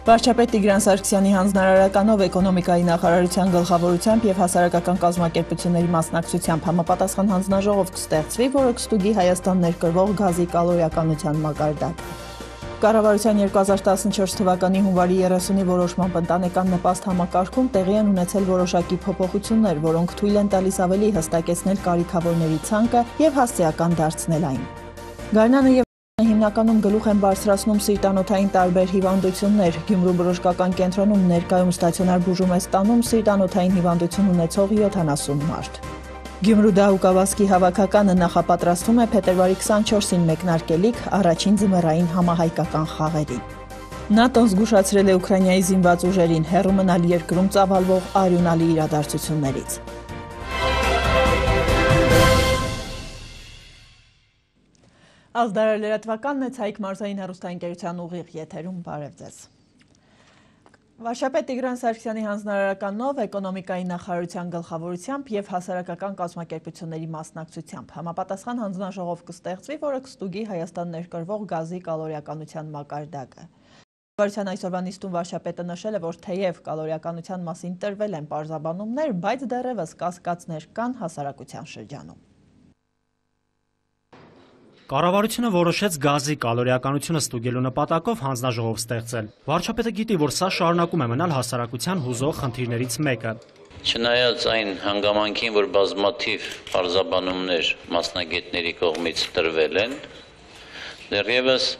Վարչապետ Տիգրան Սարգսյանի հանձնարարականով էկոնոմիկայի նախարարության գլխավորությամբ եւ հասարակական կազմակերպությունների մասնակցությամբ համապատասխան հանձնաժողով կստեղծվի, որը կստուգի Հայաստան ներկրվող գազի կալորիականության մակարդակը։ Կառավարության 2014 թվականի հունվարի 30-ի որոշմամբ ընտանեկան նպաստ համակարգում տեղի են ունեցել որոշակի փոփոխություններ, որոնք թույլ են տալիս ավելի հստակեցնել կարիքավորների ցանկը եւ հասցեական դարձնել այն։ Գարնանը եւ հիմնականում գլուխ են բարձրացնում սիրտանոթային տարբեր հիվանդություններ։ Գյումրու բժշկական կենտրոնում ներկայում ստացիոնար բուժում է ստանում սիրտանոթային հիվանդություն ունեցող 70 մարդ։ Գյումրու դահուկավազքի հավաքականը նախապատրաստվում է փետրվարի 24-ին մեկնարկելիք առաջին ձմեռային համահայկական խաղերին։ ՆԱՏՕ-ն զգուշացրել է Ուկրաինայի զինված ուժերին հեռու մնալ երկրում ծավալվող արյունալի իրադարձություններից։ Ազդարար լրատվականն է, Ցայք մարզային հեռուստաընկերության ուղիղ եթերում, բարև ձեզ։ Վարչապետ Տիգրան Սարգսյանի հանձնարարականով էկոնոմիկայի նախարարության գլխավորությամբ եւ հասարակական կազմակերպությունների մասնակցությամբ համապատասխան հանձնաժողով կստեղծվի, որը կստուգի Հայաստան ներկրվող գազի կալորիականության մակարդակը։ Կառավարության այսօրվա նիստում վարչապետը նշել է, որ թեև կալորիականության մասին տրվել են պարզաբանումներ, բայց դեռևս կասկածներ կան հասարակության շրջանում։ Կառավարությունը որոշեց գազի կալորիականությունը ստուգելու նպատակով հանձնաժողով ստեղծել։ Վարչապետը գիտի, որ սա շարունակում է մնալ հասարակության հուզող խնդիրներից մեկը։ Չնայած այն հանգամանքին, որ բազմաթիվ պարզաբանումներ մասնագետների կողմից տրվել են, դեռևս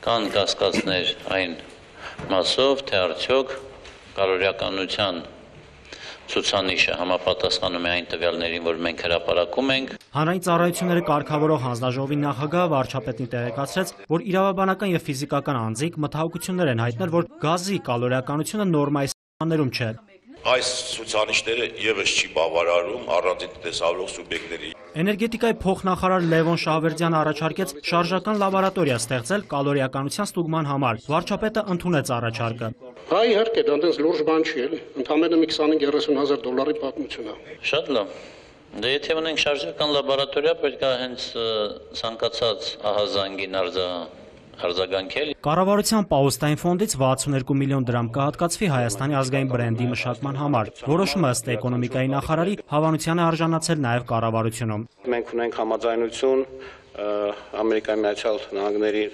կան կասկածներ այն մասով, թե արդյոք կալորիականության ցուցանիշը համապատասխանում է այն տվյալներին, որ մենք հրապարակում ենք։ Հանրային ծառայությունները կարգավորող հանձնաժողովի նախագահ վարչապետին տեղեկացրեց, որ իրավաբանական եւ ֆիզիկական անձինք մտահոգություններ են հայտնել, որ գազի կալորիականությունը նորմայի սահմաններում չէ։ Այս ցուցանիշները եւս չի բավարարում առանձին տեսավելով սուբյեկտների։ Էներգետիկայի փոխնախարար Լևոն Շահվերդյանը առաջարկեց շարժական լաբորատորիա ստեղծել կալորիականության ստուգման համար։ Վարչապետը ընդունեց առաջարկը։ Հա, իհարկե, դա այնպես լուրջ բան չի, էլի։ Ընդամենը մի 25-30 հազար դոլարի պատմություն է։ Շատ լավ։ Դե եթե ունենք շարժական լաբորատորիա, պետք է հենց ցանկացած ահազանգին արձագանքել։ Կառավարության պաուստային ֆոնդից 62 միլիոն դրամ կհատկացվի Հայաստանի ազգային բրենդի մշակման համար։ Որոշումը ըստ էկոնոմիկայի նախարարի հավանության է արժանացել նաև կառավարությունում։ Մենք ունենք համաձայնություն Ամերիկայի Միացյալ Նահանգների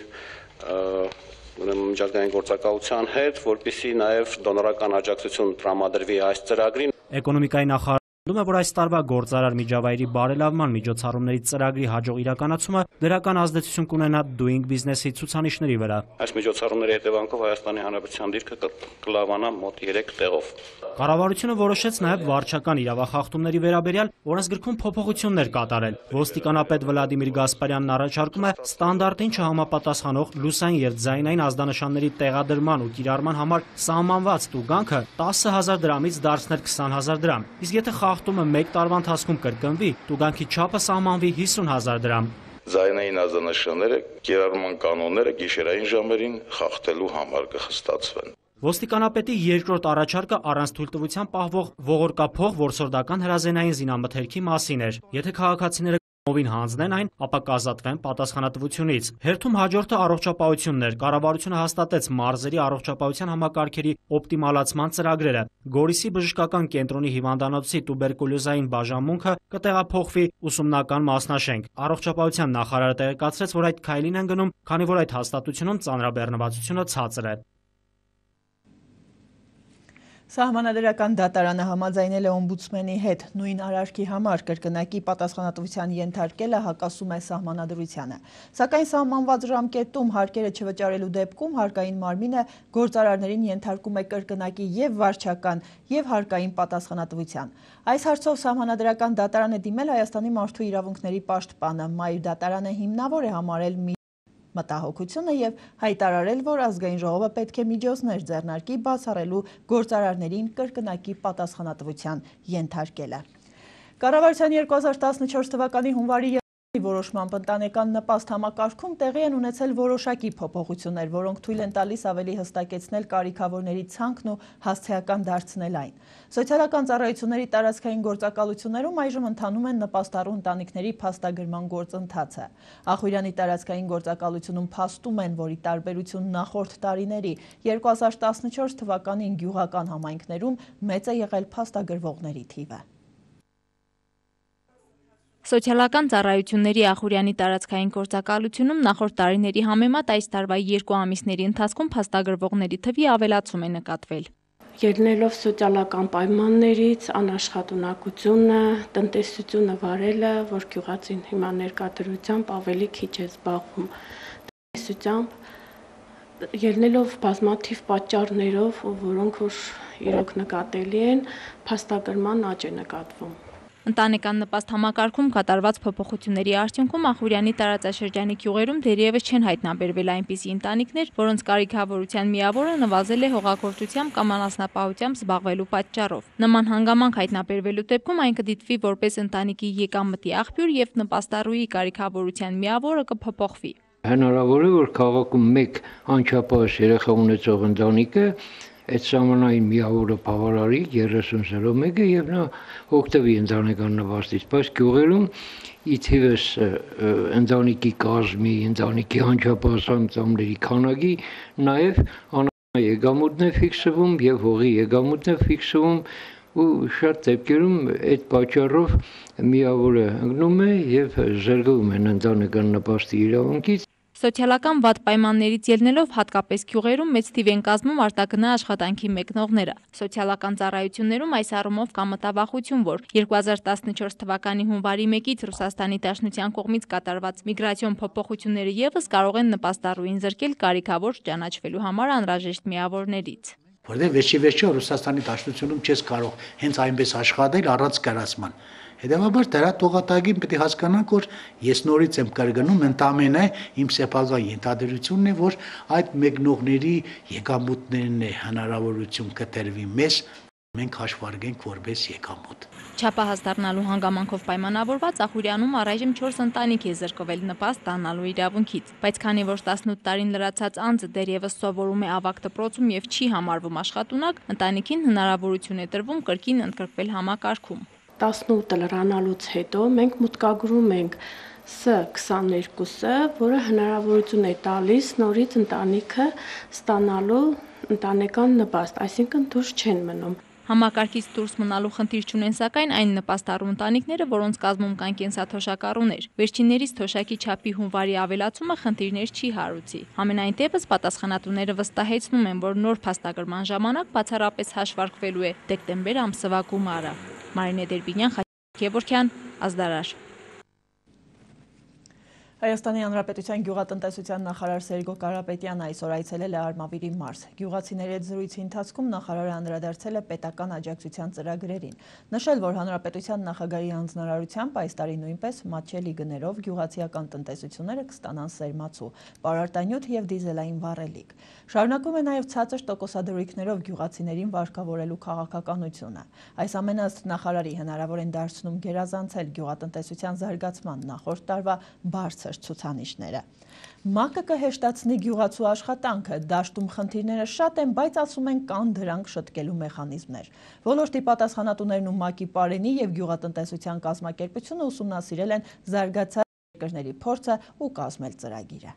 միջազգային գործակալության հետ, որպեսզի նաև դոնորական աջակցություն տրամադրվի այս ծրագրին։ Էկոնոմիկայի նախարարը Դում է, որ այս տարվա գործարար միջավայրի բարելավման միջոցառումների ծրագրի հաջող իրականացումը դրական ազդեցություն կունենա Doing Business-ի ցուցանիշների վրա։ Այս միջոցառումների հետևանքով Հայաստանի Հանրապետության դիրքը կլավանա մոտ 3 տեղով։ Կառավարությունը որոշեց նաև վարչական իրավախախտումների վերաբերյալ օրենսգրքում փոփոխություններ կատարել։ Ոստիկանապետ Վլադիմիր Գասպարյանն առաջարկում է ստանդարտին չհամապատասխանող լուսային եւ ձայնային ազդանշանների տեղադրման ու կիրառման համար սահմանված տուգանքը 10,000 դրամից դարձնել 20,000 դրամ։ Իսկ եթե խախտումը 1 տարվա ընթացքում կրկնվի, տուգանքի չափը սահմանվի 50,000 դրամ։ Ձայնային ազդանշանները, կիրառման կանոնները գիշերային ժամերին խախտելու համար կխստացվեն։ Ոստիկանապետի երկրորդ առաջարկը առանց թույլտվության պահվող ողորկափող որսորդական հրազենային զինամթերքի մասին էր։ Եթե քաղաքացիները ովին հանձնեն այն, ապա կազատվեն պատասխանատվությունից։ Հերթում հաջորդը առողջապահությունն էր։ Կառավարությունը հաստատեց մարզերի առողջապահության համակարգերի օպտիմալացման ծրագրերը։ Գորիսի բժշկական կենտրոնի հիվանդանոցի տուբերկուլյոզային բաժանմունքը կտեղափոխվի ուսումնական մասնաշենք։ Առողջապահության նախարարը տեղեկացրեց, որ այդ քայլին են գնում, քանի որ այդ հաստատությունում ծանրաբեռնվածությունը ցածր է։ Սահմանադրական դատարանը համաձայնել է օմբուդսմենի հետ նույն արարքի համար կրկնակի պատասխանատվության ենթարկելը հակասում է սահմանադրությանը։ Սակայն սահմանված ժամկետում հարկերը չվճարելու դեպքում հարկային մարմինը գործարարներին ենթարկում է կրկնակի եւ վարչական եւ հարկային պատասխանատվության։ Այս հարցով սահմանադրական դատարան է դիմել Հայաստանի մարդու իրավունքների պաշտպանը։ Մայր դատարանը հիմնավոր է համարել մտահոգությունը եւ հայտարարել, որ ազգային ժողովը պետք է միջոցներ ձեռնարկի բացառելու գործարարներին կրկնակի պատասխանատվության ենթարկելը։ Կառավարության 2014 թվականի հունվարի Որոշմամբ ընտանեկան նպաստ համակարգում տեղի են ունեցել որոշակի փոփոխություններ, որոնք թույլ են տալիս ավելի հստակեցնել կարիքավորների ցանկն ու հասցեական դարձնել այն։ Սոցիալական ծառայությունների տարածքային գործակալություններում այժմ ընթանում են նպաստառու ընտանիքների փաստագրման գործընթացը։ Ախուրյանի տարածքային գործակալությունում փաստում են, որ ի տարբերություն նախորդ տարիների 2014 թվականին գյուղական համայնքներում մեծ է եղել փաստագրվողների թիվը։ Սոցիալական ծառայությունների Ախուրյանի տարածքային գործակալությունում նախորդ տարիների համեմատ այս տարվա 2 ամիսների ընթացքում փաստագրվողների թվի ավելացում է նկատվել։ Ելնելով սոցիալական պայմաններից, անաշխատունակությունը, տնտեսությունը վարելը, որ գյուղացին հիմա ներկայությամբ ավելի քիչ է զբաղվում տնտեսությամբ, ելնելով բազմաթիվ պատճառներով, որոնք որ իրոք նկատելի են, փաստագրման աճ է նկատվում։ Ընտանեկան նպաստ համակարգում կատարված փոփոխությունների արդյունքում Ախուրյանի տարածաշրջանի գյուղերում դեռևս չեն հայտնաբերվել այնպիսի ընտանիքներ, որոնց կարիքավորության միավորը նվազել է հողագործությամբ կամ անասնապահությամբ զբաղվելու պատճառով։ Նման հանգամանք հայտնաբերվելու դեպքում այն կդիտվի որպես ընտանիքի եկամտի աղբյուր եւ նպաստառուի կարիքավորության միավորը կփոփոխվի։ Հնարավոր է, որ քաղաքում մեկ անչափահաս երեխա ունեցող ընտանիքը այդ սահմանային միավորը բավարարի 30-01-ը եւ նա օգտվի ընտանեկան նպաստից, բայց գյուղերում ի թիվս ընտանիքի կազմի, ընտանիքի անչափահաս անդամների քանակի նաեւ եկամուտն է ֆիքսվում եւ հողի եկամուտն է ֆիքսվում ու շատ դեպքերում այդ պատճառով միավորը ընկնում է եւ զրկվում են ընտանեկան նպաստի իրավունքից։ Սոցիալական վատ պայմաններից ելնելով հատկապես գյուղերում մեծ թիվ են կազմում արտագնա աշխատանքի մեկնողները։ Սոցիալական ծառայություններում այս առումով կա մտավախություն, որ 2014 թվականի հունվարի 1-ից Ռուսաստանի Դաշնության կողմից կատարված միգրացիոն փոփոխությունները եւս կարող են նպաստառուին զրկել կարիքավոր ճանաչվելու համար անհրաժեշտ միավորներից։ Որտեղ վերջի Ռուսաստանի Դաշնությունում չես կարող հենց այնպես աշխատել առանց կրացման։ Հետևաբար դրա տողատագին պետք է հասկանանք, որ ես նորից եմ կրկնում, ընդամենը իմ սեփական ենթադրությունն է, որ այդ մեկնողների եկամուտներն է հնարավորություն կտրվի մեզ, մենք հաշվարկենք որպես եկամուտ։ Չափահաս դառնալու հանգամանքով պայմանավորված Ախուրյանում առայժմ 4 ընտանիք է զրկվել նպաստ ստանալու իրավունքից, բայց քանի որ 18 տարին լրացած անձը դեռևս սովորում է ավագ դպրոցում եւ չի համարվում աշխատունակ, ընտանիքին հնարավորություն է տրվում կրկին ընդգրկվել համակարգում։ 18 լրանալուց հետո մենք մուտքագրում ենք S22-ը, որը հնարավորություն է տալիս նորից ընտանիքը ստանալու ընտանեկան նպաստ, այսինքն դուրս չեն մնում։ Համակարգից դուրս մնալու խնդիր չունեն սակայն այն նպաստառու ընտանիքները, որոնց կազմում կան կենսաթոշակառուներ։ Վերջիններիս թոշակի չափի հունվարի ավելացումը խնդիրներ չի հարուցի։ Համենայն դեպս պատասխանատուները վստահեցնում են, որ նոր փաստագրման ժամանակ բացառապես հաշվարկվելու է դեկտեմբեր ամսվա գումարը։ Մարինե Դերբինյան, Գևորգյան, Ազդարար։ Հայաստանի Հանրապետության գյուղատնտեսության նախարար Սերգո Կարապետյանը այսօր այցելել է Արմավիրի մարզ։ Գյուղացիների հետ զրույցի ընթացքում նախարարը անդրադարձել է պետական աջակցության ծրագրերին, նշել, որ Հանրապետության նախագահի հանձնարարությամբ այս տարի նույնպես մատչելի գներով գյուղացիական տնտեսությունները կստանան սերմացու, պարարտանյութ եւ դիզելային վառելիք։ Շարունակում է նաեւ ցածր տոկոսադրույքներով գյուղացիներին վարկավորելու քաղաքականությունը։ Այս ամենը ըստ նախարարի հնարավոր են դարձնում գերազանցել գյուղատնտեսության զարգացման նախորդ տարվա բարձր ցուցանիշները։ ՄԱԿ-ը կհեշտացնի գյուղացու աշխատանքը, դաշտում խնդիրները շատ են, բայց ասում են կան դրանք շտկելու մեխանիզմներ։ Ոլորտի պատասխանատուներն ու ՄԱԿ-ի Պարենի եւ գյուղատնտեսության կազմակերպությունը ուսումնասիրել են զարգացած երկրների փորձը ու կազմել ծրագիրը։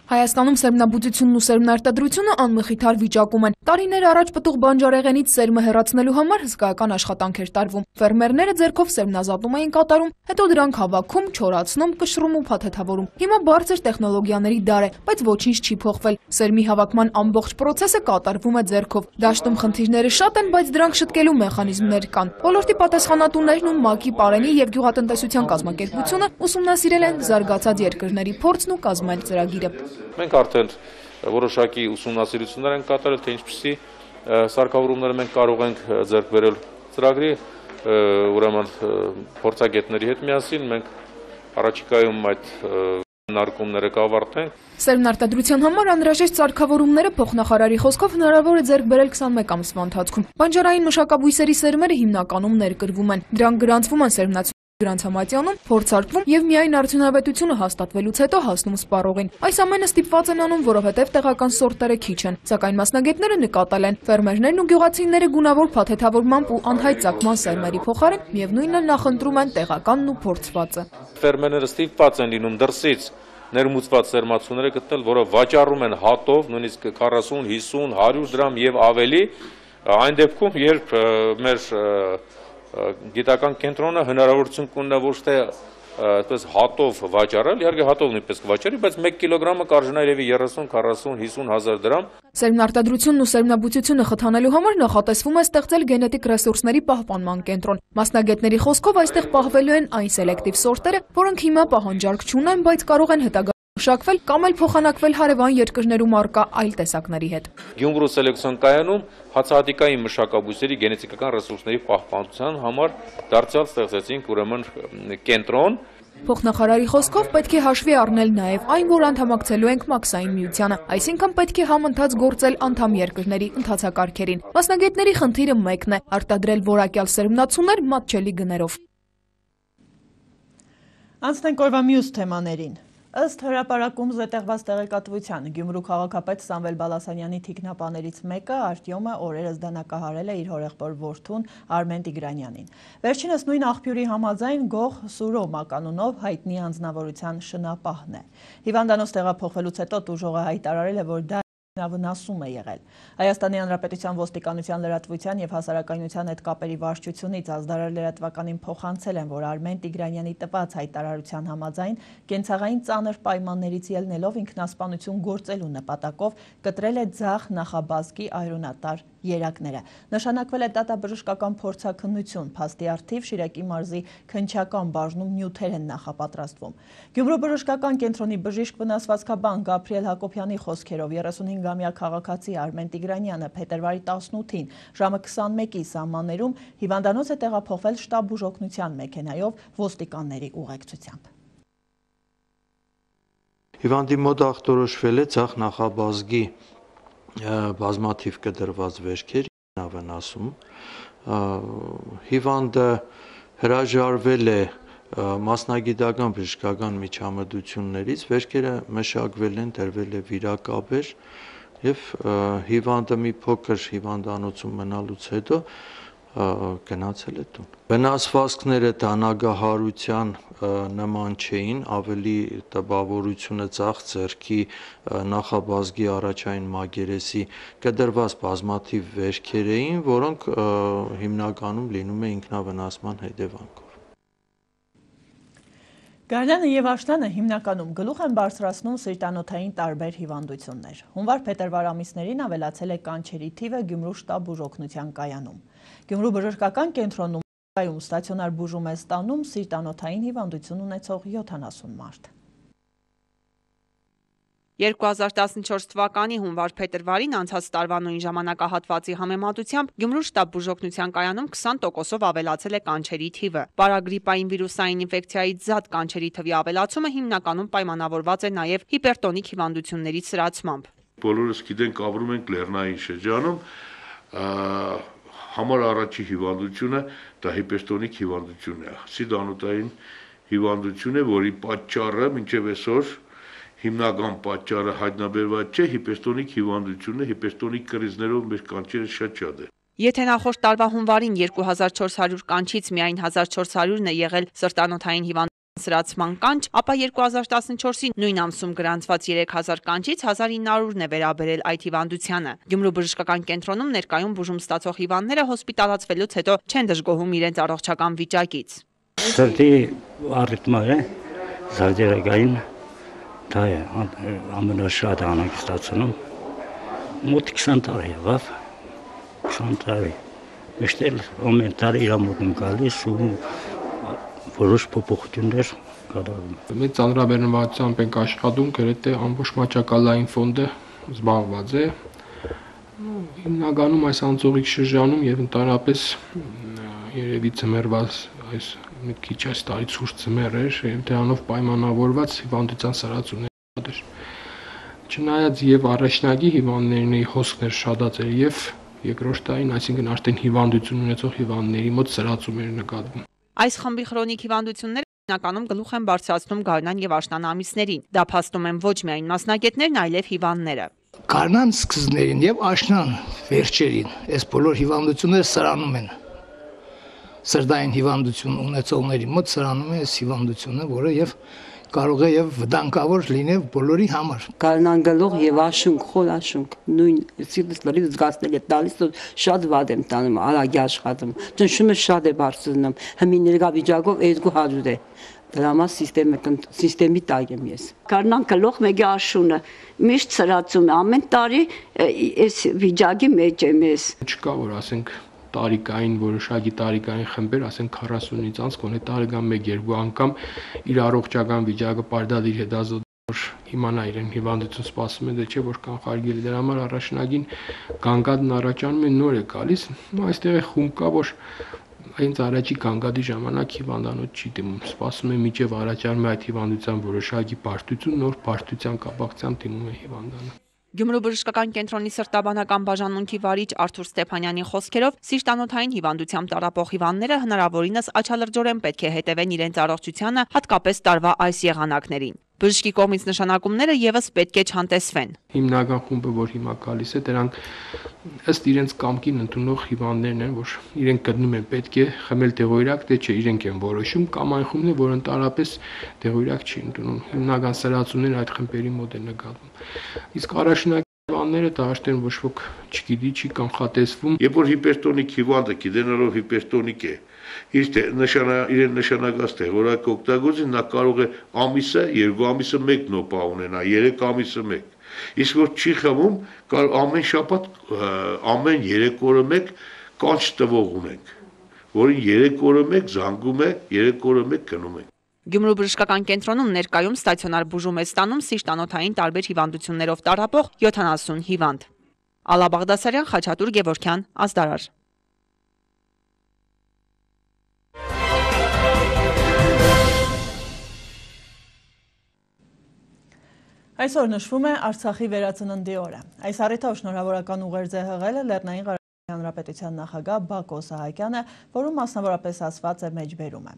Հայաստանում սերմնաբուծությունն ու սերմնարտադրությունը անմխիթար վիճակում են։ Տարիներ առաջ պտուղ բանջարեղենից սերմը հեռացնելու համար հսկայական աշխատանք էր տարվում։ Ֆերմերները ձեռքով սերմնազատում էին կատարում, հետո դրանք հավաքում, չորացնում, կշռում ու փաթեթավորում։ Հիմա բարձր տեխնոլոգիաների դար է, բայց ոչինչ չի փոխվել։ Սերմի հավաքման ամբողջ process-ը կատարվում է ձեռքով։ Դաշտում խնդիրները շատ են, բայց դրանք շտկելու մեխանիզմներ կան։ Ոլորտի պատասխանատուներն ու ՄԱԿ-ի Պարենի եւ գյուղատնտեսության կազմակերպությունը ուսումնասիրել են զարգացած երկրների փորձն ու կազմել ծրագիրը։ Մենք արդեն որոշակի ուսումնասիրություններ ենք կատարել, թե ինչպիսի սարքավորումներ մենք կարող ենք ձեռք բերել ծրագրի, ուրեմն փորձագետների հետ միասին մենք առաջիկայում այդ քննարկումները կավարտենք։ Սերմնարտադրության համար անհրաժեշտ սարքավորումները փոխնախարարի խոսքով հնարավոր է ձեռք բերել 21 ամսվա ընթացքում։ Բանջարային մշակաբույսերի սերմերը հիմնականում ներկրվում են։ Դրանք գրանցվում են սերմնացու Գրանցամատյանում փորձարկվում եւ միայն արդյունավետությունը հաստատվելուց հետո հասնում սպառողին։ Այս ամենը ստիպված են անում, որովհետեւ տեղական սորտերը քիչ են, սակայն մասնագետները նկատել են, ֆերմերներն ու գյուղացիները գունավոր փաթեթավորմամբ ու անհայտ ծագման սերմերի փոխարեն միևնույնն նախընտրում են տեղականն ու փորձվածը։ Ֆերմերները ստիպված են լինում դրսից ներմուծված սերմացուները գտնել, որը վաճառում են հատով, նույնիսկ 40, 50, 100 դրամ եւ ավելի, այն դեպքում, երբ մեր գիտական կենտրոնը հնարավորություն կունենա ոչ թե այդպես հատով վաճառել, իհարկե հատով նույնպես կվաճառի, բայց 1 կիլոգրամը կարժենա երևի 30, 40, 50 հազար դրամ։ Սերմնարտադրությունն ու սերմնաբուծությունը խթանելու համար նախատեսվում է ստեղծել գենետիկ ռեսուրսների պահպանման կենտրոն։ Մասնագետների խոսքով այստեղ պահվելու են այն սելեկտիվ սորտերը, որոնք հիմա պահանջարկ չունեն, բայց կարող են հետագայում մշակվել կամ էլ փոխանակվել հարևան երկրներում առկա այլ տեսակների հետ։ Գյումրու սելեկցիոն կայանում հացահատիկային մշակաբույսերի գենետիկական ռեսուրսների պահպանության համար դարձյալ ստեղծեցինք ուրեմն կենտրոն։ Փոխնախարարի խոսքով պետք է հաշվի առնել նաև այն, որ անդամակցելու ենք մաքսային միությանը, այսինքն պետք է համընթաց գործել անդամ երկրների ընթացակարգերին։ Մասնագետների խնդիրը մեկն է՝ արտադրել որակյալ սերմնացուներ մատչելի գներով։ Անցնենք օրվա մյուս թեմաներին։ Ըստ հրապարակում զետեղված տեղեկատվության Գյումրու քաղաքապետ Սամվել Բալասանյանի թիկնապաներից մեկը Արտյոմը օրերս դանակահարել է իր հորեղբոր որդուն Արմեն Տիգրանյանին։ Վերջինս նույն աղբյուրի համաձայն Գող Սուրո մականունով հայտնի անձնավորության շնապահն է։ Հիվանդանոց տեղափոխվելուց հետո տուժողը հայտարարել է, որ դա վնասում է եղել։ Հայաստանի Հանրապետության ոստիկանության լրատվության եւ հասարակայնության հետ կապերի վարչությունից ազդարար լրատվականին փոխանցել են, որ Արմեն Տիգրանյանի տված հայտարարության համաձայն կենցաղային ծանր պայմաններից ելնելով ինքնասպանություն գործելու նպատակով կտրել է ձախ նախաբազկի այրոնատար երակները։ Նշանակվել է դատաբժշկական փորձաքննություն, փաստի առթիվ Շիրակի մարզի քննչական բաժնում նյութեր են նախապատրաստվում։ Գյումրու բժշկական կենտրոնի բժիշկ վնասվածքաբան Գաբրիել Հակոբյանի խոսքերով 35-ամյա քաղաքացի Արմեն Տիգրանյանը փետրվարի 18-ին ժամը 21-ի սահմաններում հիվանդանոց է տեղափոխվել շտաբ բուժօգնության մեքենայով ոստիկանների ուղեկցությամբ։ Հիվանդի մոտ ախտորոշվել է ձախ նախաբազգի բազմաթիվ կտրված վերքեր, վնասում, հիվանդը հրաժարվել է մասնագիտական բժշկական միջամտություններից, վերքերը մշակվել են, տրվել է վիրակաբեր եւ հիվանդը մի փոքր հիվանդանոցում մնալուց հետո գնացել է տուն։ Վնասվածքները դանագահարության նման չէին, ավելի տպավորությունը ձախ ձեռքի նախաբազգի առաջային մագերեսի կտրված բազմաթիվ վերքեր էին, որոնք հիմնականում լինում է ինքնավնասման հետևանքով։ Գարնանը եւ աշնանը հիմնականում գլուխ են բարձրացնում սիրտանոթային տարբեր հիվանդություններ։ Հունվար-փետրվար ամիսներին ավելացել է կանչերի թիվը Գյումրու շտաբ բուժօգնության կայանում։ Գյումրու բժշկական կենտրոնում ստացիոնար բուժում է ստանում սիրտանոթային հիվանդություն ունեցող 70 մարդ։ 2014 թվականի հունվար-փետրվարին անցած տարվա նույն ժամանակահատվածի համեմատությամբ Գյումրու շտաբ բուժօգնության կայանում 20%-ով ավելացել է կանչերի թիվը։ Պարագրիպային վիրուսային ինֆեկցիայից զատ կանչերի թվի ավելացումը հիմնականում պայմանավորված է նաև հիպերտոնիկ հիվանդությունների սրացմամբ։ Բոլորս գիտենք, ապրում ենք լեռնային շրջանում, համար առաջի հիվանդությունը դա հիպերտոնիկ հիվանդությունն է։ Սիրտանոթային հիվանդություն է, որի պատճառը մինչև այսօր հիմնական պատճառը հայտնաբերված չէ, հիպերտոնիկ հիվանդությունն է, հիպերտոնիկ կրիզներով մեր կանչերը շատ է։ Եթե նախորդ տարվա հունվարին 2400 կանչից միայն 1400-ն է եղել սրտանոթային հիվանդության սրացման կանչ, ապա 2014-ի նույն ամսում գրանցված 3000 կանչից 1900-ն է վերաբերել այդ հիվանդությանը։ Գյումրու բժշկական կենտրոնում ներկայում բուժում ստացող հիվանդները հոսպիտալացվելուց հետո չեն դժգոհում իրենց առողջական վիճակից։ Սրտի առիթմը է, զարդերակային դա է ամենաշատ անհանգստացնում, մոտ 20 տարի եղավ, 20 տարի, միշտ էլ ամեն տարի իր մոտ եմ գալիս ու որոշ փոփոխություններ կատարում։ Մեծ ծանրաբեռնվածությամբ ենք աշխատում, գրեթե ամբողջ մաճակալային ֆոնդը զբաղված է, հիմնականում այս անցողիկ շրջանում եւ ընդհանրապես երևի ծմերված այս մի քիչ այս տարի ցուրտ ծմեր էր, եւ դրանով պայմանավորված հիվանդության սրացումներ էր։ Չնայած եւ առաջնակի հիվանդների հոսքներ շատացել եւ երկրորդ տարին, այսինքն արդեն հիվանդություն ունեցող հիվանդների մոտ սրացում էր նկատվում։ Այս խմբի խրոնիկ հիվանդությունները հիմնականում գլուխ են բարձրացնում գարնան եւ աշնան ամիսներին։ Դա փաստում են ոչ միայն մասնագետներն, այլև հիվանդները։ Գարնան սկզբներին եւ աշնան վերջերին այս բոլոր հիվանդությունները սրանում են։ Սրտային հիվանդություն ունեցողների մոտ սրանում է այս հիվանդությունը, որը եւ կարող է եւ վտանգավոր լինել բոլորի համար։ Գարնան գլուխ եւ աշունք, խոր աշունք, նույն սիրտս լրիվ զգացնել է տալիս, շատ վատ եմ տանում, արագ աշխատում, ճնշումը շատ է բարձրանում, հիմի ներկա վիճակով 200 է։ Դրա համար սիստեմի տակ եմ ես։ Գարնան գլուխ մեկ աշունը միշտ սրացում է, ամեն տարի այս վիճակի մեջ եմ ես։ Չկա որ ասենք տարիքային որոշակի տարիքային խմբեր, ասենք 40-ից անց գոնե տարեկան 1-2 անգամ իր առողջական վիճակը պարտադիր հետազոտող իմանա իրեն հիվանդություն սպասում է, դե չէ որ կանխարգելի դրա համար առաջնագին գանգատն առաջանում է նոր է գալիս, այստեղ է խումբ կա որ հենց առաջի գանգատի ժամանակ հիվանդանոց չի դիմում, սպասում է մինչև առաջանում է այդ հիվանդության որոշակի բարդություն, նոր բարդության կապակցությամբ դիմում է հիվանդանը։ Գյումրու բժշկական կենտրոնի սրտաբանական բաժանմունքի վարիչ Արթուր Ստեփանյանի խոսքերով սիրտանոթային հիվանդությամբ տառապող հիվանդները հնարավորինս աչալրջորեն պետք է հետևեն իրենց առողջությանը, հատկապես տարվա այս եղանակներին։ Բժշկի կողմից նշանակումները եւս պետք է չհանտեսվեն։ Հիմնական խումբը, որ հիմա գալիս է, դրանք ըստ իրենց կամքին ընդունող հիվանդներն են, որ իրենք գտնում են պետք է խմել դեղորայք, թե չէ, իրենք են որոշում, կամ այն խումբն է, որ ընդհանրապես դեղորայք չի ընդունում։ Հիմնական սրացումները այդ խմբերի մոտ է նկատվում։ Իսկ առաջնակ հիվանդները դաշտեն ոչ ոք չգիտի, չի կանխատեսվում։ Երբ որ հիպերտոնիկ հիվանդը գիտենալով հիպերտոնիկ է, իրեն նշանակած դեղորայք օգտագործի, նա կարող է ամիսը, 2 ամիսը 1 նոպա ունենա, 3 ամիսը 1։ Իսկ որ չի խմում, ամեն շաբաթ, ամեն 3 օրը 1 կանչ տվող ունենք, որին 3 օրը 1 զանգում է, 3 օրը 1 գնում ենք։ Գյումրու բժշկական կենտրոնում ներկայում ստացիոնար բուժում է ստանում սիրտանոթային տարբեր հիվանդություններով տառապող 70 հիվանդ։ Ալա Բաղդասարյան, Խաչատուր Գևորգյան, Ազդարար։ Այսօր նշվում է Արցախի վերածննդի օրը։ Այս առիթով շնորհավորական ուղերձ է հղել Լեռնային Ղարաբաղի Հանրապետության նախագահ Բակո Սահակյանը, որում մասնավորապես ասված է մեջբերում է։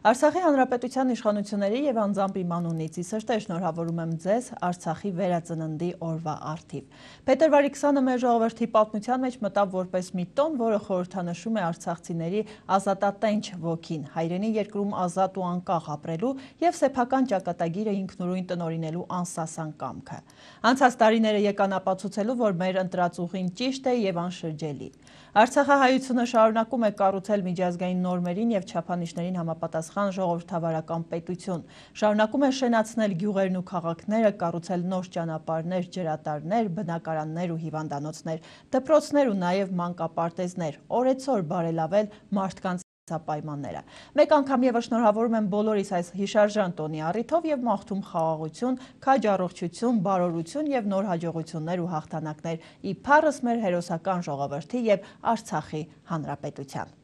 Արցախի Հանրապետության իշխանությունների եւ անձամբ իմ անունից ի սրտե շնորհավորում եմ ձեզ Արցախի վերածննդի օրվա առթիվ։ Փետրվարի 20-ը մեր ժողովրդի պատմության մեջ մտավ որպես մի տոն, որը խորհրդանշում է արցախցիների ազատատենչ ոգին, հայրենի երկրում ազատ ու անկախ ապրելու եւ սեփական ճակատագիրը ինքնուրույն տնօրինելու անսասան կամքը։ Անցած տարիները եկան ապացուցելու, որ մեր ընտրած ուղին ճիշտ է եւ անշրջելի։ Արցախահայությունը շարունակում է կառուցել միջազգային նորմերին եւ չափանիշներին համապատասխան ժողովրդավարական պետություն, շարունակում է շենացնել գյուղերն ու քաղաքները, կառուցել նոր ճանապարհներ, ջրատարներ, բնակարաններ ու հիվանդանոցներ, դպրոցներ ու նաեւ մանկապարտեզներ, օրեցօր բարելավել մարդկանց պայմանները։ Մեկ անգամ եւս շնորհավորում եմ բոլորիս այս հիշարժան տոնի առիթով եւ մաղթում խաղաղություն, քաջ առողջություն, բարօրություն եւ նոր հաջողություններ ու հաղթանակներ իբարս մեր հերոսական ժողովրդի եւ Արցախի հանրապետության։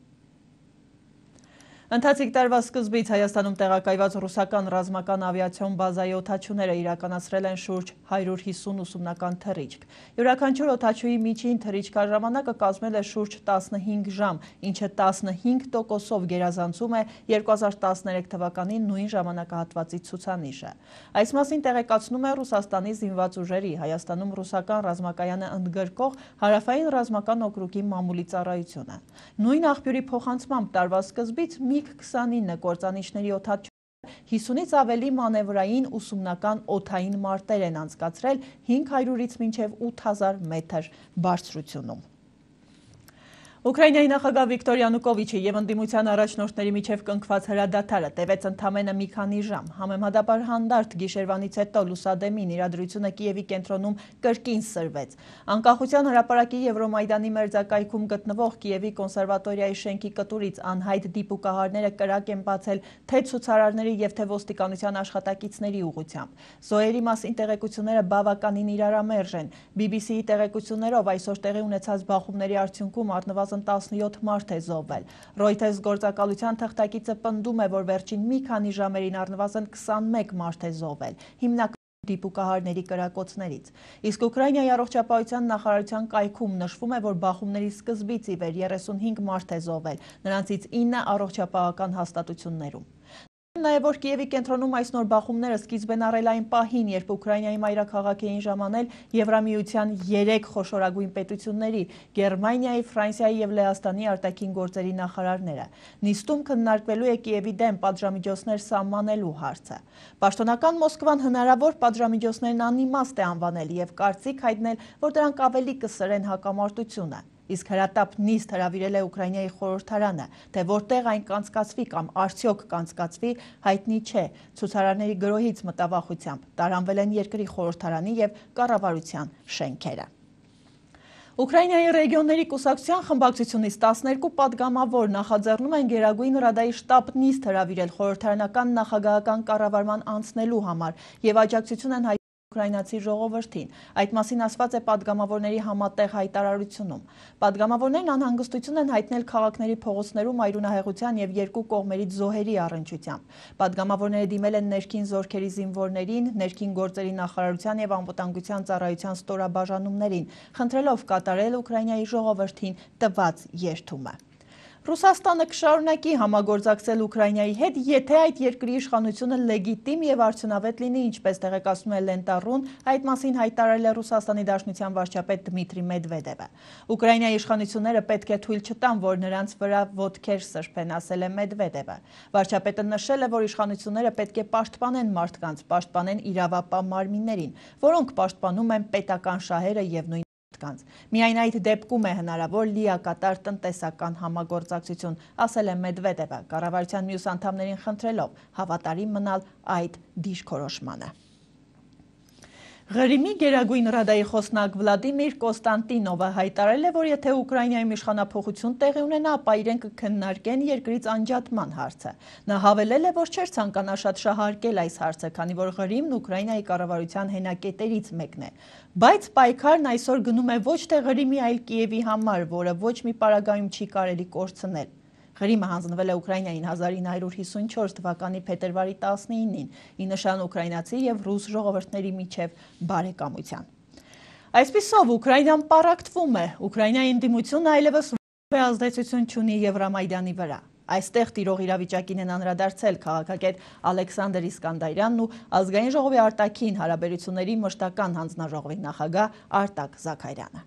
Ընթացիկ տարվա սկզբից Հայաստանում տեղակայված ռուսական ռազմական ավիացիոն բազայի օդաչուները իրականացրել են շուրջ 150 ուսումնական թռիչք։ Յուրաքանչյուր օդաչուի միջին թռիչքաժամանակը կազմել է շուրջ 15 ժամ, ինչը 15%-ով գերազանցում է 2013 թվականի նույն ժամանակահատվածի ցուցանիշը։ Այս մասին տեղեկացնում է Ռուսաստանի զինված ուժերի Հայաստանում ռուսական ռազմակայանը ընդգրկող Հարավային ռազմական օկրուգի մամուլի ծառայությունը։ Նույն աղբյուրի փոխանցմամբ տարվա սկզբից MiG-29 կործանիչների օդաչուները 50-ից ավելի մանևրային ուսումնական օդային մարտեր են անցկացրել 500-ից մինչև 8000 մետր բարձրությունում։ Ուկրաինայի նախագահ Վիկտոր Յանուկովիչի եւ ընդդիմության առաջնորդների միջև կնքված հրադադարը տևեց ընդամենը մի քանի ժամ։ Համեմատաբար հանդարտ գիշերվանից հետո լուսադեմին իրադրությունը Կիևի կենտրոնում կրկին սրվեց։ Անկախության հրապարակի Եվրոմայդանի մերձակայքում գտնվող Կիևի կոնսերվատորիայի շենքի կտուրից անհայտ դիպուկահարները կրակ են բացել թե ցուցարարների եւ թե ոստիկանության աշխատակիցների ուղղությամբ։ Զոհերի մասին տեղեկությունները բավականին իրարամերժ են։ BBC-ի տեղեկություններով այսօր տեղի ունեցած բախումների արդյունքում առնվազն 17 մարդ է զոհվել։ Reuters գործակալության թղթակիցը պնդում է, որ վերջին մի քանի ժամերին առնվազն 21 մարդ է զոհվել։ դիպուկահարների կրակոցներից։ Իսկ Ուկրաինայի առողջապահության նախարարության կայքում նշվում է, որ բախումների սկզբից ի վեր 35 մարդ է զոհվել, նրանցից 9 առողջապահական հաստատություններում։ Նաև որ Կիևի կենտրոնում այս նոր բախումները սկիզբ են առել այն պահին, երբ Ուկրաինայի մայրաքաղաք էին ժամանել Եվրամիության 3 խոշորագույն պետությունների՝ Գերմանիայի, Ֆրանսիայի եւ Լեհաստանի արտաքին գործերի նախարարները։ Նիստում քննարկվելու է Կիևի դեմ պատժամիջոցներ սահմանելու հարցը։ Պաշտոնական Մոսկվան հնարավոր պատժամիջոցներն անիմաստ է անվանել եւ կարծիք հայտնել, որ դրանք ավելի կսրեն հակամարտությունը։ Իսկ հրատապ նիստ հրավիրել է Ուկրաինայի խորհրդարանը, թե որտեղ այն կանցկացվի կամ արդյոք կանցկացվի, հայտնի չէ։ Ցուցարարների գրոհից մտավախությամբ տարանվել են երկրի խորհրդարանի եւ կառավարության շենքերը։ Ուկրաինայի ռեգիոնների կուսակցության խմբակցությունից 12 պատգամավոր նախաձեռնում են Գերագույն Ռադայի շտաբ նիստ հրավիրել խորհրդարանական նախագահական կառավարման անցնելու համար եւ աջակցություն են ուկրաինացի ժողովրդին։ Այդ մասին ասված է պատգամավորների համատեղ հայտարարությունում։ Պատգամավորներն անհանգստություն են հայտնել քաղաքների փողոցներում այրունահեղության եւ երկու կողմերից զոհերի առնչությամբ։ Պատգամավորները դիմել են ներքին զորքերի զինվորներին, ներքին գործերի նախարարության եւ անվտանգության ծառայության ստորաբաժանումներին, խնդրելով կատարել Ուկրաինայի ժողովրդին տված երդումը։ Ռուսաստանը կշարունակի համագործակցել Ուկրաինայի հետ, եթե այդ երկրի իշխանությունը լեգիտիմ եւ արդյունավետ լինի, ինչպես տեղեկացնում է Լենտարուն, այդ մասին հայտարարել է Ռուսաստանի Դաշնության վարչապետ Դմիտրի Մեդվեդևը։ Ուկրաինայի իշխանությունները պետք է թույլ չտան, որ նրանց վրա ոտքեր սրբեն, ասել է Մեդվեդևը։ Վարչապետը նշել է, որ իշխանությունները պետք է պաշտպանեն մարդկանց, պաշտպանեն իրավապահ մարմիններին, որոնք պաշտպանում են պետական շահերը եւ նույն Միայն այդ դեպքում է հնարավոր լիակատար տնտեսական համագործակցություն, ասել է Մեդվեդևը, կառավարության մյուս անդամներին խնդրելով հավատարիմ մնալ այդ դիրքորոշմանը։ Ղրիմի Գերագույն Ռադայի խոսնակ Վլադիմիր Կոստանտինովը հայտարարել է, որ եթե Ուկրաինայում իշխանափոխություն տեղի ունենա, ապա իրենք կքննարկեն երկրից անջատման հարցը։ Նա հավելել է, որ չէր ցանկանա շատ շահարկել այս հարցը, քանի որ Ղրիմն Ուկրաինայի կառավարության հենակետերից մեկն է։ Բայց պայքարն այսօր գնում է ոչ թե Ղրիմի, այլ Կիևի համար, որը ոչ մի պարագայում չի կարելի կորցնել։ Ղրիմը հանձնվել է Ուկրաինային 1954 թվականի փետրվարի 19-ին, ի նշան ուկրաինացի եւ ռուս ժողովուրդների միջև բարեկամության։ Այսպիսով Ուկրաինան պառակտվում է, Ուկրաինայի ընդդիմությունը այլևս ոչ ազդեցություն չունի Եվրամայդանի վրա։ Այստեղ տիրող իրավիճակին են անդրադարձել քաղաքագետ Ալեքսանդր Իսկանդարյանն ու ազգային ժողովի արտաքին հարաբերությունների մշտական հանձնաժողովի նախագահ Արտակ Զաքարյանը։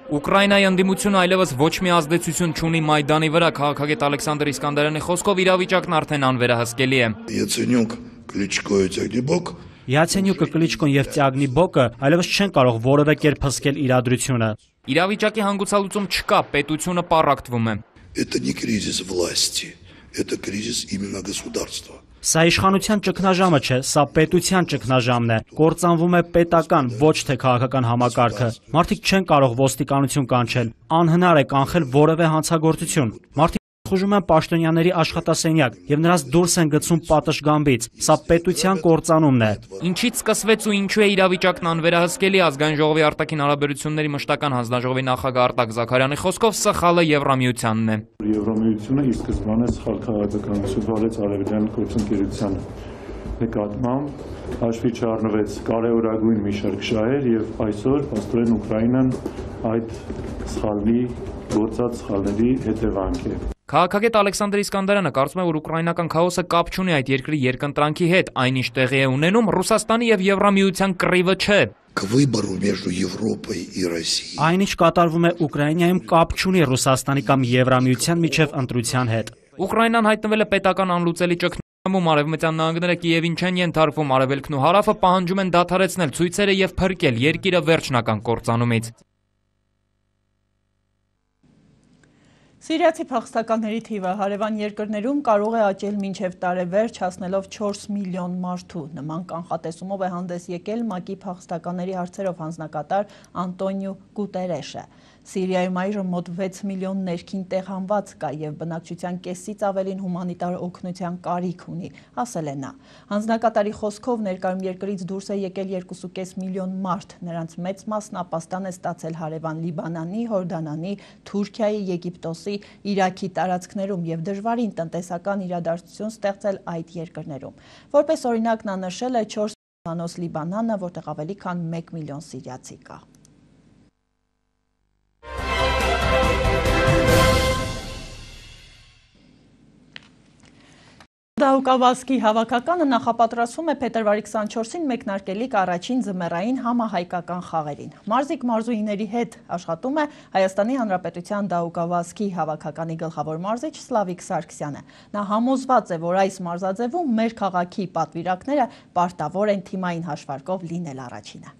Ուկրաինայի ընդդիմությունը այլևս ոչ մի ազդեցություն չունի Մայդանի վրա, քաղաքագետ Ալեքսանդր Իսկանդարյանի խոսքով իրավիճակն արդեն անվերահսկելի է։ Յացենյուկը, Կլիչկոն եւ Տյագնիբոկը այլևս չեն կարող որևէ կերպ հսկել իրադրությունը։ Իրավիճակի հանգուցալուծում չկա, պետությունը պառակտվում է։ Это не кризис власти, это кризис именно государства. Սա իշխանության ճգնաժամը չէ, սա պետության ճգնաժամն է։ Կործանվում է պետական, ոչ թե քաղաքական համակարգը։ Մարդիկ չեն կարող ոստիկանություն կանչել, անհնար է կանխել որևէ հանցագործություն։ Մարդիկ խուժում են պաշտոնյաների աշխատասենյակ եւ նրանց դուրս են գցում պատշգամբից։ Սա պետության կործանումն է։ Ինչից սկսվեց ու ինչու է իրավիճակն անվերահսկելի, ազգային ժողովի արտաքին հարաբերությունների մշտական հանձնաժողովի նախագահ Արտակ Զաքարյանի խոսքով սխալը Եվրամիությանն է։ Եվրամիությունը ի սկզբանե սխալ քաղաքականություն վարեց արևելյան գործընկերությանը նկատմամբ, հաշվի չառնվեց կարևորագույն մի շարք շահեր եւ այսօր փաստորեն Ուկրաինան այդ սխալի գործած սխալների հետևանք է։ Քաղաքագետ Ալեքսանդր Իսկանդարյանը կարծում է, որ ուկրաինական քաոսը կապ չունի այդ երկրի երկընտրանքի հետ, այն ինչ տեղի է ունենում Ռուսաստանի եւ Եվրամիության կռիվը չէ։ Այն ինչ կատարվում է Ուկրաինայում կապ չունի Ռուսաստանի կամ Եվրամիության միջև ընտրության հետ։ Ուկրաինան հայտնվել է պետական անլուծելի ճգնաժամում, արևմտյան նահանգները Կիևին չեն ենթարկվում, արևելքն ու հարավը պահանջում են դադարեցնել ցույցերը եւ փրկել երկիրը վերջնական կործանումից։ Սիրիացի փախստականների թիվը հարևան երկրներում կարող է աճել մինչև տարեվերջ, հասնելով 4 միլիոն մարդու։ Նման կանխատեսումով է հանդես եկել ՄԱԿ-ի փախստականների հարցերով հանձնակատար Անտոնիո Գուտերեշը։ Սիրիայում այժմ մոտ 6 միլիոն ներքին տեղանված կա եւ բնակչության կեսից ավելին հումանիտար օգնության կարիք ունի, ասել է նա։ Հանձնակատարի խոսքով ներկայում երկրից դուրս է եկել 2.5 միլիոն մարդ, նրանց մեծ մասն ապաստան է ստացել հարևան Լիբանանի, Հորդանանի, Թուրքիայի, Եգիպտոսի, Իրաքի տարածքներում եւ դժվարին տնտեսական իրադարձություն ստեղծել այդ երկրներում։ Որպես օրինակ նա նշել է 4 միլիոնանոց Լիբանանը, որտեղ ավելի քան 1 միլիոն սիրիացի կա։ Դահուկավազքի հավաքականը նախապատրաստվում է փետրվարի 24-ին մեկնարկելիք առաջին ձմեռային համահայկական խաղերին։ Մարզիկ մարզուհիների հետ աշխատում է Հայաստանի Հանրապետության դահուկավազքի հավաքականի գլխավոր մարզիչ Սլավիկ Սարգսյանը։ Նա համոզված է, որ այս մարզաձևում մեր քաղաքի պատվիրակները պարտավոր են թիմային հաշվարկով լինել առաջինը։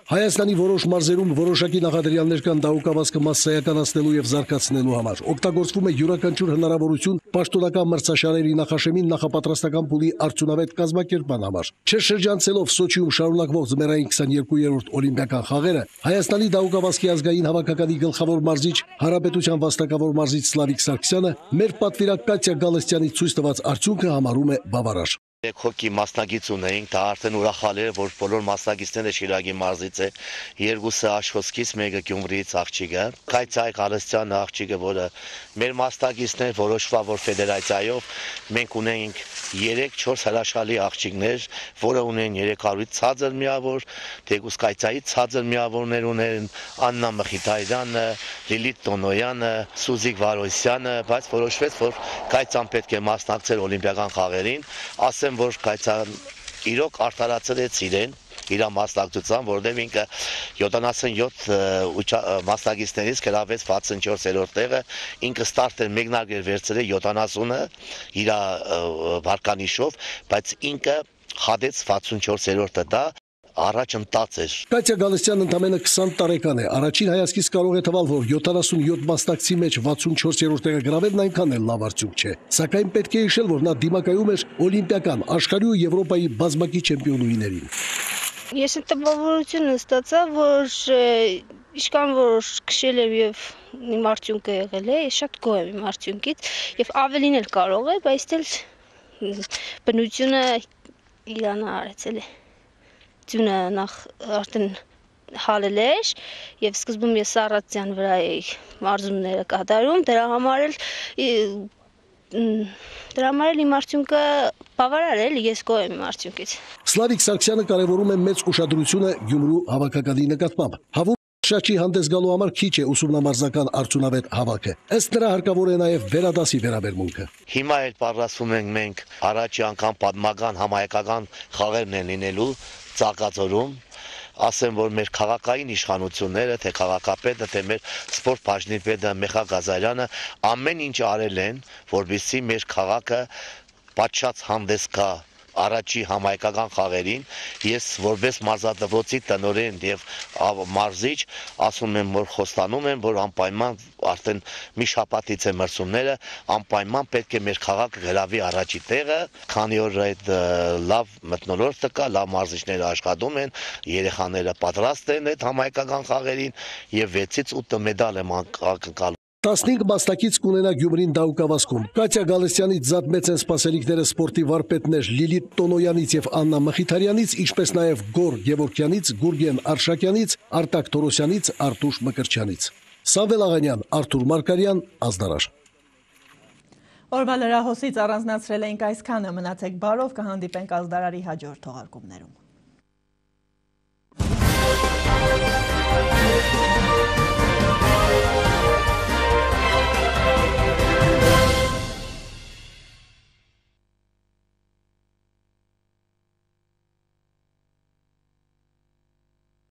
Հայաստանի որոշ մարզերում որոշակի նախադրյալներ կան դահուկավազքը մասսայականացնելու եւ զարգացնելու համար։ Օգտագործվում է յուրաքանչյուր հնարավորություն պաշտոնական մրցաշարերի նախաշեմին նախապատրաստական փուլի արդյունավետ կազմակերպման համար։ Չշրջանցելով Սոչիում շարունակվող ձմեռային 22-րդ օլիմպիական խաղերը, Հայաստանի դահուկավազքի ազգային հավաքականի գլխավոր մարզիչ, Հանրապետության վաստակավոր մարզիչ Սլավիկ Սարգսյանը մեր պատվիրակ Կատյա Գալստյանի ցույց տված արդյունքը համարում է բավարար։ Հոկի մասնագիծ ունեինք, դա արդեն ուրախալի է, որ բոլոր մասնագիծները Շիրակի մարզից է, երկուսը Աշխոսքից, մեկը Գյումրիից աղջիկը, Կայցայ Գալստյանը աղջիկը, որը մեր մասնագիծներ որոշվավոր ֆեդերացիայով մենք ունենք 3-4 հրաշալի աղջիկներ, որը ունեն 300-ից ցածր միավոր, Թեկուզ Կայցայից ցածր միավորներ ունեն, Աննա Մխիթարյանը, Լիլիթ Տոնոյանը, Սուզիկ Վարոսյանը, բայց որոշվեց, որ Կայցան պետք է մասնակցել օլիմպիական խաղերին, ասեմ, որ Կայցան իրոք արտարացրեց իրեն իր մասնակցության, որտեղ ինքը 77 մասնակիցներից գրավեց 64-րդ տեղը, ինքը ստարտեր մեկնարկեր վերցրել 70-ը իր վարկանիշով, բայց ինքը հադեց 64-րդը դա առաջընթաց էր։ Կատյա Գալստյանը ընդամենը 20 տարեկան է, առաջին հայացքից կարող է թվալ, որ 77 մասնակցի մեջ 64-րդ տեղը գրավելն այնքան էլ լավ արդյունք չէ, սակայն պետք է հիշել, որ նա դիմակայում էր օլիմպիական, աշխարհի ու Եվրոպայի բազմակի չեմպիոնուհիներին։ Ես տպավորությունը ստացա, որ ինչքան որ քշել եմ եւ իմ արդյունքը եղել է, ես շատ գոհ եմ իմ արդյունքից եւ ավելին էլ կարող է, բայց դեռ բնությունը իրան արեցել է։ Ձյունը նախ արդեն հալել էր եւ սկզբում ես Սարացյան վրա էի մարզումները կատարում, դրա համար էլ իմ արդյունքը բավարար է, ես գոհ եմ իմ արդյունքից։ Սլավիկ Սարգսյանը կարևորում է մեծ ուշադրությունը Գյումրու հավաքականի նկատմամբ։ Հավում շաչի հանդես գալու համար քիչ է ուսումնամարզական արդյունավետ հավաքը։ Ըստ նրա հարկավոր է նաև վերադասի վերաբերմունքը։ Հիմա էլ պատրաստվում ենք մենք առաջի անգամ պատմական համահայկական խաղերն են լինելու Ծաղկաձորում, ասեմ, որ մեր քաղաքային իշխանությունները, թե քաղաքապետը, թե մեր սպորտ բաժնի պետը Մեխա Գազարյանը ամեն ինչ արել են, որպեսզի մեր քաղաքը պատշաճ հանդես գա առաջի համայնքական խաղերին, ես որպես մարզադպրոցի տնօրեն եւ մարզիչ ասում եմ, որ խոստանում եմ, որ անպայման արդեն մի շաբաթից է մրցումները, անպայման պետք է մեր քաղաքը գրավի առաջի տեղը, քանի որ այդ լավ մթնոլորտը կա, լավ մարզիչները աշխատում են, երեխաները պատրաստ են այդ համայնքական խաղերին եւ 6-ից 8 մեդալ եմ անկալում։ 15 մասնակից կունենա Գյումրին դահուկավազքում։ Կատյա Գալստյանից զատ մեծ են սպասելիքները սպորտի վարպետներ Լիլիթ Տոնոյանից եւ Աննա Մխիթարյանից, ինչպես նաեւ Գոր Գևորգյանից, Գուրգեն Արշակյանից, Արտակ Թորոսյանից, Արտուշ Մկրտչյանից։ Սամվել Աղանյան, Արթուր Մարկարյան, Ազդարար։ Օրվա լրահոսից առանձնացրել էինք այսքանը, մնացեք բարով, կհանդիպենք Ազդարարի հաջորդ թողարկումներում։